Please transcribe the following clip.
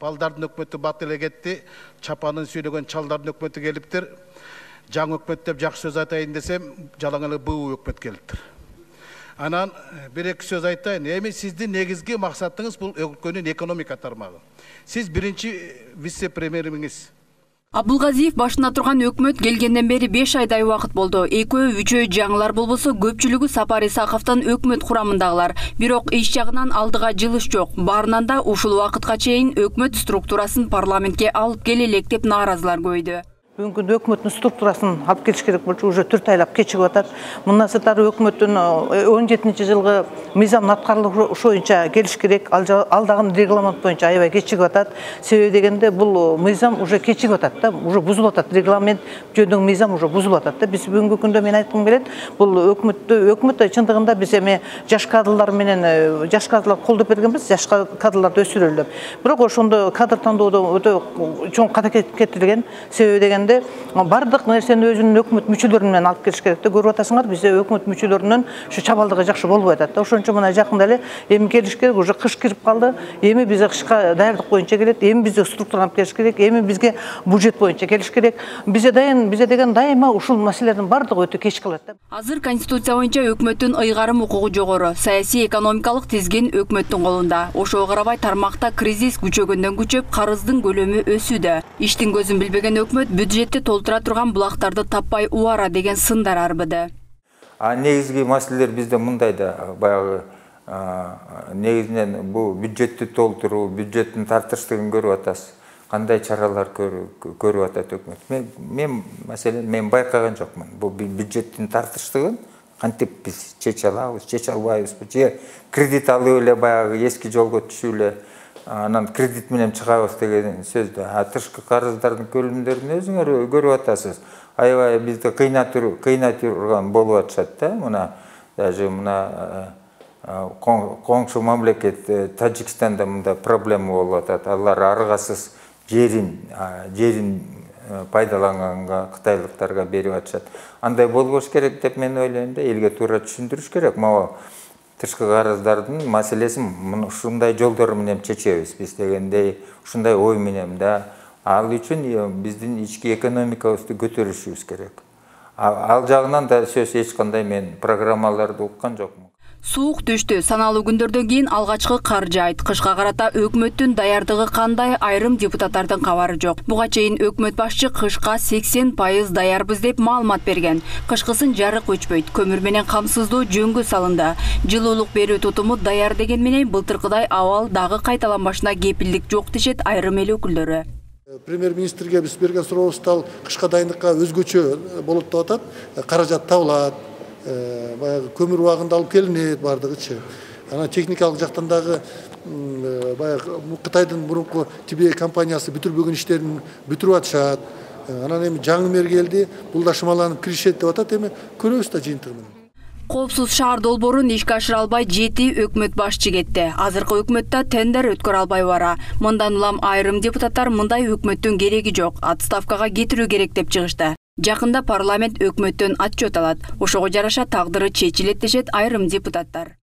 балдардын өкмөтү бат эле кетти, чапанын сүйлөгөн чалдардын өкмөтү келиптир. Жаңы өкмөт деп жакшы сөз айтайын десем, жалаң эле буу өкмөт келиптир. Анан бир-эки сөз айтайын. Эми сиздин негизги максатыңыз бул өлкөнүн экономика тармагы. Сиз биринчи вице-премьерimiz. Абылгазиев башына турган өкмөт келгенден бери 5 айдай убакыт болду. Экөө-үчөө жаңылар болбосо көпчүлүгү Сапар Исаковдун өкмөт курамындагылар. Бирок иш жагынан алдыга жылыш жок. Баарынан да ушул убакытка чейин өкмөт структурасын парламентке алып келелек деп нааразылар көйдү. Бүгүнкү өкмөттүн структурасын алып келиш керек болчу, уже 4 айлап кечигип атат. Мындан сырткары өкмөттүн 17-жылгы мыйзамдын аткарылышы боюнча келиш керек. Ал дагы регламент боюнча аябай кечигип атат. Себеби дегенде бул мыйзам уже кечигип атат да, уже бузулуп атат. Регламент жөнүндө мыйзам уже бузулуп атат да. Биз бүгүнкү күндө мен айткым келет, бул өкмөттө чындыгында биз эми жаш кадрлар менен жаш кадрлар колдоп бергенбиз, жаш кадрларды өсүрөлү деп. Бирок ошондо кадр тандоодо өтө чоң ката кетирилген. Себеби дегенде бардык нерсени өзүнүн өкмөт мүчөлөрү менен алып келиш керек да. Көрүп атасыңар, бизде өкмөт мүчөлөрүнүн ушу чабалдыгы жакшы болбой атат да. Ошон үчүн мына жакында эле эми келиш керек, уже кыш кирип калды. Эми бизге кышка даярдык боюнча келет, эми бизге структураны алып келиш керек, эми бизге бюджет боюнча келиш керек. Бизде деген дайыма ушул маселелердин бардыгы өтө кеч калат да. Азыр конституция боюнча өкмөттүн ыйгарым укугу жогору, саясий экономикалык тизгин өкмөттүн колунда. Ошого карабай тармакта кризис күчөгөндөн күчөп, карыздын көлөмү өсүүдө. Иштин көзүн билбеген өкмөт бюджетти толтура турган булактарды таппай убара деген сындар арбыды. Негизги маселелер бизде мындай да, баягы негизинен бул бюджетти толтуруу, бюджеттин тартыштыгын көрүп атасыз. Кандай чаралар көрүп атат өкмөт? Мен байкаган жокмун. Бул бюджеттин тартыштыгын кантип биз чече алабыз, чече албайбызбы? Же кредит алып эле баягы эски жолго түшүп эле анан кредит менен чыгабыз деген сөздү. Тышкы карыздардын көлөмдөрүн өзүңөр көрүп атасыз. Аябай бизди кыйнатырган болуп атышат да. Мына даже мына коңшу мамлекет Тажикстанда мында проблема болуп атат. Алар аргасыз жерин пайдаланганга кытайлыктарга берип атышат. Андай болбош керек деп мен ойлойм да. Элге туура түшүндүрүш керек. Могу тышкы карыздардын маселесин ушундай жолдор менен чечебиз биз дегендей, ушундай ой менен да. Ал үчүн биздин ички экономикабызды көтөрүшүбүз керек. Ал жагынан да сөз эч кандай мен программаларды уккан жокмун. Суук түштү. Саналуу күндөрдөн кийин алгачкы кар жаайт. Кышка карата өкмөттүн даярдыгы кандай, айрым депутаттардын кабары жок. Буга чейин өкмөт башчы кышка 80% даярбыз деп маалымат берген. Кышкысын жарык өчпөйт, көмүр менен камсыздоо жөнгө салынды. Жылуулук берүү тутуму даяр деген менен былтыркыдай абал дагы кайталанбашына кепилдик жок дешет айрым эл өкүлдөрү. Премьер-министрге биз берген сурообузда кышка дайындыкка өзгөчө болот деп атат. Каражат табылат. Баягы көмүр убагында алып келинет бардыгычы. Анан техникалык жактан дагы баягы Кытайдын мурунку Тибе компаниясы бүтүрбөгөн иштерин бүтүрүп атышат. Анан эми жаңы мэр келди, бул да шымаланып киришет деп атат. Эми көрөбүз да жыйынтыгын. Коопсуз шаар долбоорун ишке ашыра албай 7 өкмөт башчы кетти. Азыркы өкмөттө тендер өткөрө албай бара. Мындан улам айрым депутаттар мындай өкмөттүн кереги жок, отставкага кетирүү керек деп чыгышты. Жакында парламент өкмөттөн отчет алат. Ошого жараша тагдыры чечилет дешет айрым депутаттар.